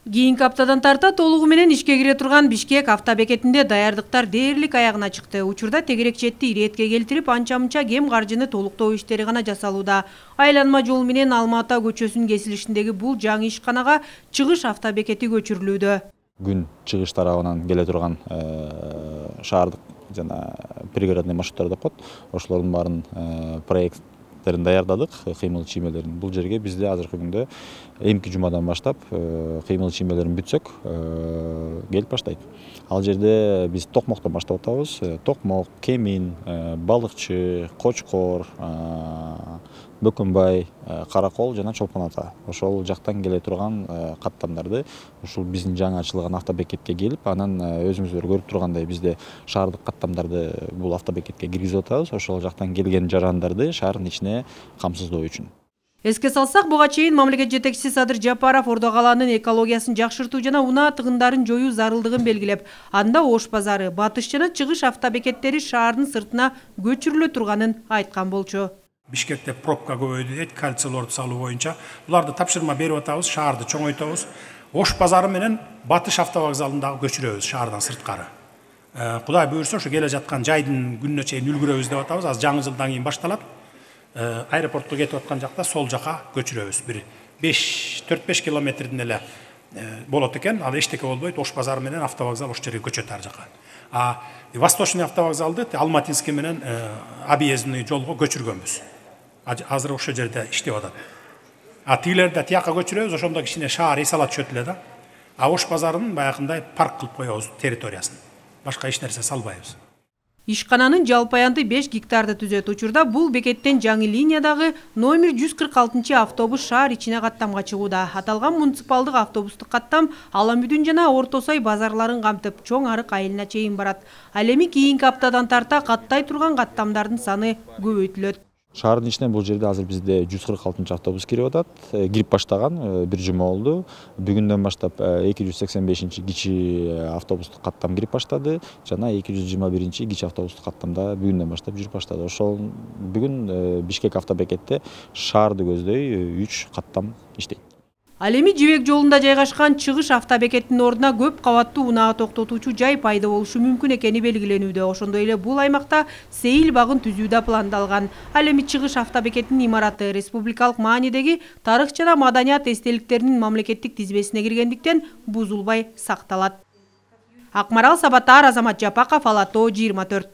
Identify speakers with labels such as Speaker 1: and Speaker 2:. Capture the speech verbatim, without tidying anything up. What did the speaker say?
Speaker 1: Кийинки аптадан тарта толугу менен ишке кире турган Бишкек автобекетинде даярдыктар дээрлик аягына чыкты. Учурда тегерек четти иретке келтирип, анча-мынча кем каржыны толуктоо иштери гана жасалууда. Айланма жол менен Алма ата көчөсүнүн кесилишиндеги бул жаңы ишканага чыгыш автобекети көчүрүлүүдө.
Speaker 2: Күн чыгыш тарабынан келе турган шаардык жана пригородный маршруттар деп коет. Ошолордун баарын проект даярдадык, кыймыл чиймелерин. Бул жерге бизде азыркы күндө эмки жумадан баштап кыймыл чиймелерин бүтсөк келип баштайт. Ал жерде биз токмоктон баштап атабыз. Токмок, Кемин, Балыкчы, Кочкор, Бөкөнбай, Каракол жана Чолпон ата. Ошол жактан келе турган каттамдарды ушул биздин жаңы ачылган автобекетке келип, анан өзүңүздөр көрүп тургандай бизде шаардык каттамдарды бул автобекетке киргизип атабыз. Ошол жактан келген жарандарды шаардын ичине камсыздоо үчүн.
Speaker 1: Эске салсак, буга чейин мамлекет жетекчиси Садыр Жапаров Ордо калаанын экологиясын жакшыртуу жана унаа тыгындарын жоюу зарылдыгын белгилеп, анда Ош базары, батыш жана чыгыш автобекеттери шаардын сыртына көчүрүлө турганын айткан болчу.
Speaker 3: Бишкекте пробка көбөйдү дейт, кальцийлорду салуу боюнча. Буларды тапшырма берип атабыз, шаарды чоңойтобуз. Ош базары менен Батыш автовокзалын дагы көчүрөбүз шаардан сырткары. Кудай буйрса, ошо келе жаткан жайдын күнүнө чейин үлгүрөбүз деп атабыз. Азыр жаңы жылдан кийин башталат. Аэропортко кетип аткан жакта сол жака көчүрөбүз. Бир төрт беш километрдин эле болот экен. Ал эчтеке болбойт. Ош базары менен автовокзал ош жерге көчөт ар жака. А Восточный автовокзалды Алматинский менен объездный жолго көчүргөнбүз. Азыр ошол жерде иштеп атат. А тигилерди тияка көчүрөбүз, ошондо кичине шаар эс алат чөтүлө да. А Ош базарынын баягындай парк кылып коебуз территориясын. Башка эч нерсе салбайбыз.
Speaker 1: Ишкананын жалпы аянты беш гектарды түзөт. Учурда бул бекеттен жаңы линиядагы номер жүз кырк алтынчы автобус шаар ичине каттамга чыгууда. Аталган муниципалдык автобустук каттам Аламүдүн жана Орто Сай базарларын камтып, Чоң Арык айылына чейин барат. Ал эми кийинки аптадан тарта каттай турган каттамдардын саны көбөйтүлөт.
Speaker 2: Шаардын ичинен бул жерде азыр бизде жүз кырк алтынчы автобус кирип атат. Кирип баштаган бир жума болду. Бүгүндөн баштап эки жүз сексен бешинчи кичи автобустук каттам кирип баштады жана эки жүз жыйырма биринчи кичи автобустук каттамда бүгүндөн баштап жүрүп баштады. Ошол бүгүн Бишкек автобекетте шаарды көздөй үч каттам иштейт.
Speaker 1: Ал эми Жибек жолунда жайгашкан чыгыш автобекеттин ордуна көп кабаттуу унаа токтотуучу жай пайда болушу мүмкүн экени белгиленүүдө. Ошондой эле бул аймакта сейил багын түзүү да пландалган. Ал эми чыгыш автобекеттин имараты республикалык маанидеги тарых жана маданият эстеликтеринин мамлекеттик тизмесине киргендиктен бузулбай сакталат. Акмарал Сабатар, Азамат Жапаков, Ала Тоо жыйырма төрт.